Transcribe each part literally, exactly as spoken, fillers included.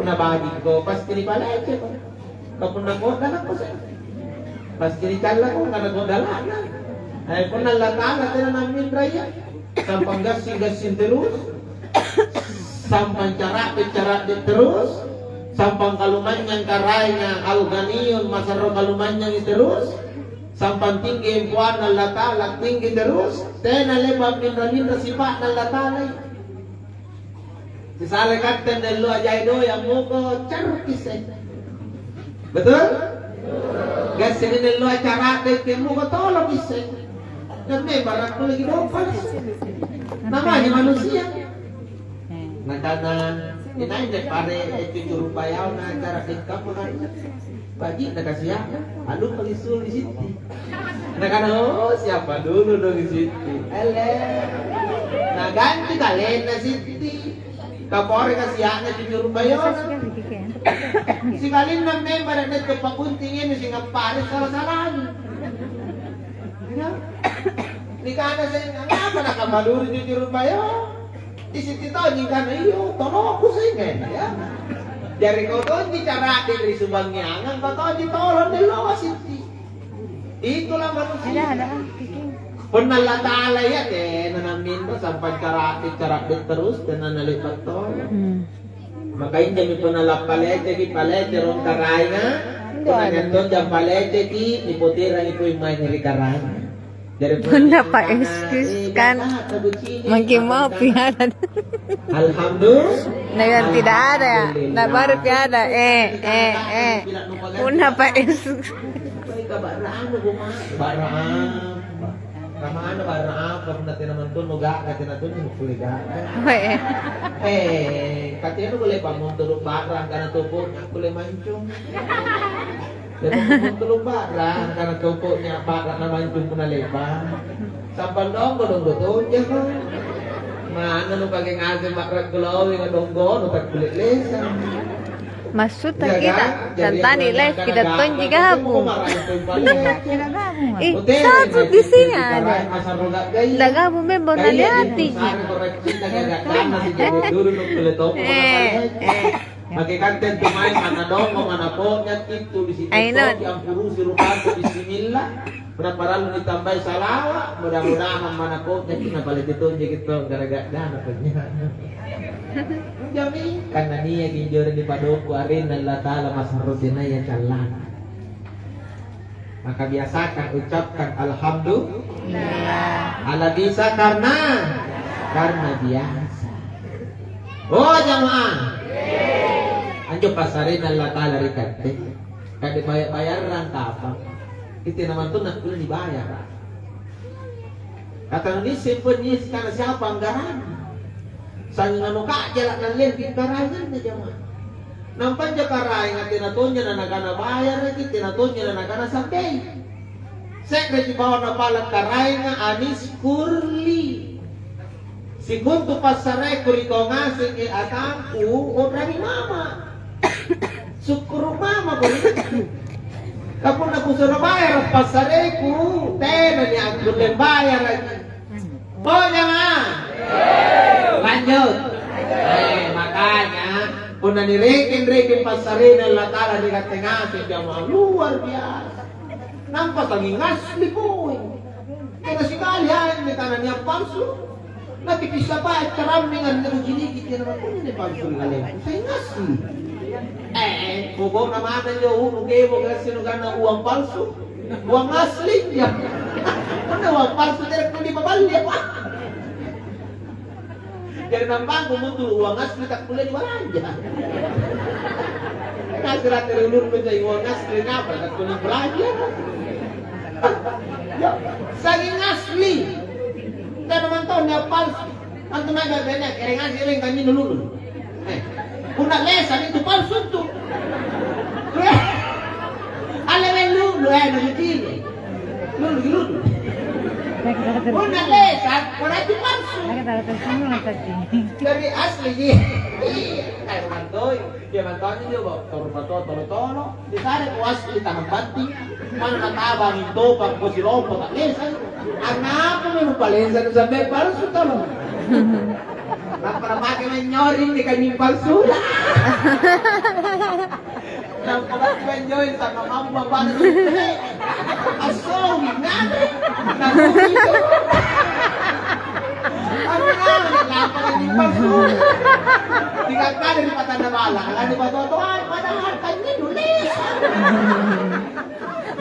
Nabajikko, pasti nipaleceko. Ka punna kodalakko se, pasti nicallako karena kodala'na. Eh, punna Allata'ala tena namminraya, sampang gassing-gassing terus, sampang cara'de-cara'de terus, sampang kalumanynyang karaenga al-ghaniyun masarro kalumanynyangi terus, sampang tinggi empoanna Allata'ala tinggi terus, tena le'ba' minra-minra sipa'na Allata'ala. Sisare katte nelloa jai doe' ammuko carukki isse. Betul? Gassing nelloa cara'de' ammuko toloki isse. Dan memang rakkuli dompa isse. Namanya manusia. Nakana, "Inai anne pare, eh, cucu rupayaona cara'de' kamma kainya?" Baji'na kasia'na, anu palissu ri Sitti. Nakana, "Oh, siapa dulu dong Sitti?" Ele. Naganti kalenna Sitti. Kapore kasia'na cucu rupayaona. Sikalinna memang nia' tau pakuntingi anu singappare sala-salami. Ya. Nikana seng, "Angngapa nakamaluri cucu rupayaona?" Di Sitti tonji kana, "Iyo, toloku seng, eh, ya." Jari kau tonji cara'de' ri subangngeangang, kau tonji tolo nelloa Sitti. Itulah manusia. Ada, ada, ah, Kiki. Punna Allata'ala iya tena namminro sampang cara'de', cara'de' terus, tena nale'ba' tolo. Hmm. Maka injomi punna lappaleceki, palece rong karaenga, punna nia' tonja paleceki, nipoterangi poeng mange ri karaenga. Punna pa excuse kan. Mungkin mau piara. Alhamdulillah. Dengan tidak ada ya. Nah, baru piara. Eh, eh, eh. Punna pa excuse. Barang apa? Kamana barang apa? Punna tena mantunnu ga'ga, tena tunnu kulle ga'ga. Oh, eh. Eh, katena boleh pamontoro' barang karena toko kulle mancung. Jadi, tulu barang, karena toko'nya barang na mancung punna le'ba'. Sampang donggo, donggo tonjako. Mana nupake ngaseng barang glowing, donggo, nutakkulle lesa. Maksudta kita, kan? Jadi, tantani live, kita tonji gabung. Iya, kita gabung. Ih, satu di sini ada. Nda gabung member na liati. Eh, eh. Maki katte intu mae mana dongo, mana ponyaki tu di situ. Aino. Ampurusi rupata, bismillah. Punna parallu nitambai salawa, mudah-mudahan mana ponyaki na palette tonji gitu gara-gara dana ponyaki. Jami, karena niaki injo ri padokku arenna Allah Ta'ala masarro tenaya callana. Maka biasakan ucapkan alhamdulillah. Ala bisa karena, karena biasa. Oh jamaah, anjo passarena Allah Ta'ala ri katte, kade bayar-bayarrang kapang, itu namanya tuh nak boleh dibayar. Kata Indonesia pun karena siapa anggarannya? Sangngano ka'jala' nallepi karaenganna jamaah. Nampa anjo karaenga tena tonja na nakana bayaraki, tena tonja na nakana sambei. Se'reji bawang napala' karaenga, "Anis kurli." Sikontu passareku ri kau ngaseng, e atangku, u'rangi mama. Sukkuru' mama ko. Ka punna kusuro bayara passareku, tena niakkulle bayaraki. Oh, jamaah. Lanjut. Eh, makanya, punna nirekeng-rekeng passarena Allah Ta'ala ri katte ngaseng, jamaah, luar biasa. Nampa sanging asli poi. Tena sikali anne tana nia' palsu. Nakipissa pae carammengang, nakuciniki tena makunne palsu ri kalengku. Sanging asli. Eh, pokokna mata injo unu kebo kasi nukana uang palsu. Uang asli, ya. Mana uang palsu, tidak perlu dipaballi apa? Jadi nampangku mutu uang asli tak boleh dibalanja. Nasira terulur menjadi uang asli, ngapa tak boleh belanja? Ya, sanging asli. Tidak ada mantan yang palsu. Antu mae bene, ereng ngaseng, ereng kanjinnu lulu. Eh, punna lesa itu palsu tu. Alle lulu, eh, nucini. Lulu, lulu. Punna lesa, berarti palsu. Jadi asli ji. Iya, kayak mantoi. Dia mantangi dia, Bo. Toro-toro, toro-toro. Di sana ku asli tanang banting. Mana natabang topang ko silompo tak lesa. Angngapa memang palesa nu sampai palsu tolo? Nampa napake mae nyori ri kanynying palsuna. Nampa napake mae nyori sama mamma batu. Assowi nganre. Nampa kanynying palsu. Tinggal kada ri patanna balla, ala ri batoa-toa, padahal kanynying nulis.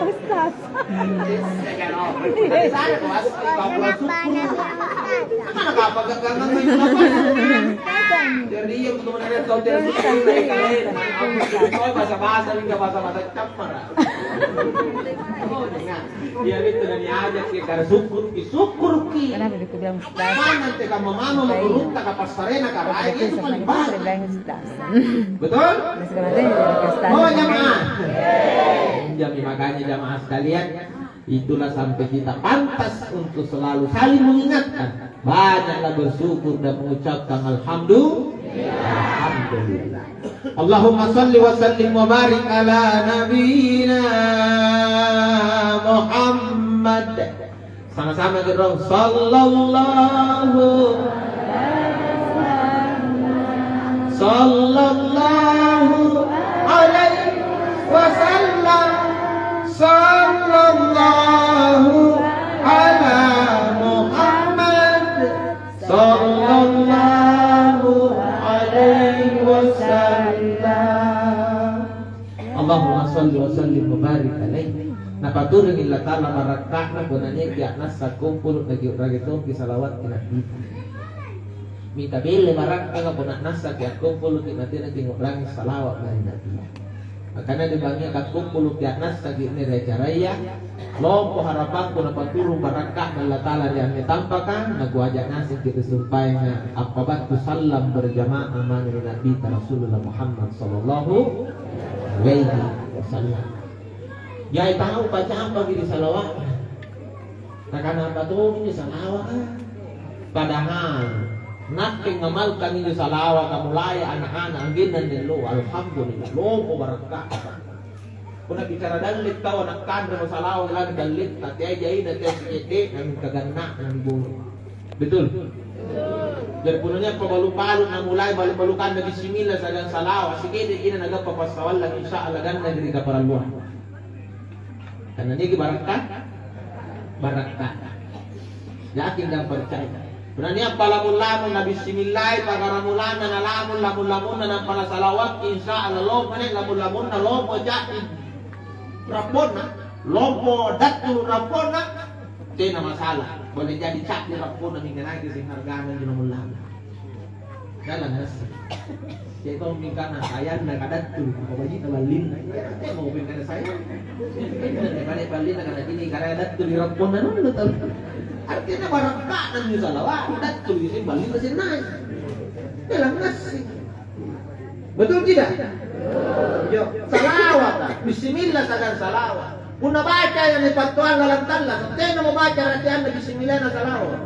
Ustaz. Jadi, iya, untuk menarik kau tidak suka, mereka lain. Kau bahasa-bahasa, hingga bahasa-bahasa campur. Oh, dengar. Iya, itu dari aja, kita syukur, syukur ki. Kenapa dibilang Ustaz? Mana teka mama, mama, beruntak, apa sarena, karaeng, itu paling baik. Betul? Oh, jamaah. Jadi, makanya, jamaah sekalian, itulah sampai kita pantas untuk selalu saling mengingatkan. Banyaklah bersyukur dan mengucapkan alhamdulillah. Alhamdulillah. Allahumma salli wa sallim wa barik ala nabiyyina Muhammad. Sama-sama kita dong. Sallallahu, sallallahu alaihi wasallam. Sallallahu ala Muhammad. Sallallahu alaihi wasallam. Allahumma salli wa sallim wa barik alaihi. Napaturingi Allata'ala barakka'na punna niaki a'nassa kumpulu' nakiu'rangi tompi salawat ri Nabi. Mita belle barakka'na punna a'nassaki akkumpuluki natenaki ngu'rangi salawat mae ri Nabi. Makana ri bangngia kakkumpuluki a'nassaki mae ri acaraya, lompo harapangku napaturung barakka'na Allata'ala ri anne tampaka, nakuaja' ngasengki ri sumpaenga appabattu sallang berjamaah mange ri Nabita Rasulullah Muhammad sallallahu alaihi wasallam. Jai tau pacambaki ri salawa'na. Nakana apa tommi salawa'a? Padahal nakke ngamalkang injo salawaka mulai ana'-ana' anggenna anne alloa, alhamdulillah, lompo barakka'na. Punna bicara dalli' tau ana' kanremo salawa' lari dalli'ta, teai jaina, teai sike'de'na, mingka ganna'na niboro'. Betul? Jari punna nia'ko balu'-balu' namulai balu'-balukanna bismillah siagang salawa', sike'de' jaina nagappa passawallang, insya Allah gannaki ri kaparalluang. Karena niki barakka', barakka'. Yakin dan percaya. Punna nia' palamun-lamun na bismillai pakaramulana, na lamun-lamun-lamunna nampa nasalawakki, insya Allah lompo nia' lamun-lamunna, lompo ca'di rapponna, lompo dattulu rapponna, tena masalah. Boleh jadi ca'di rapponna mingka nakke seng hargana injo lamun-lamun. Dalang ngaseng. Ceko mingkana sayanna kadattuli, maka baji'na ballinna. Iya, temo mingkana sayang. Pada ballinna kana cini karaya dattuli rapponna nulu tau. Artinya barakka'na anjo salawa', dattuli sing ballinna sing nai'. Dalang ngaseng. Betul tidak? Yo, salawat. Bismillah sagan salawat. Punna baca yang dipattuang lalang tallasa', tena mo baca rateanna bismillahna salawa'.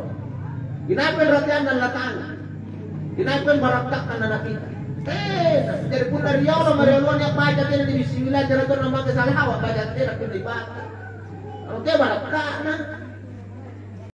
Inapa rateanna Allata'ala? Inapa barakka'na Nabita? Tena. Jari punna riolo marioloa nia' baca tena di bismillah, jari tena make salawa', baca tena punna ibaca. Oke, barakka'na.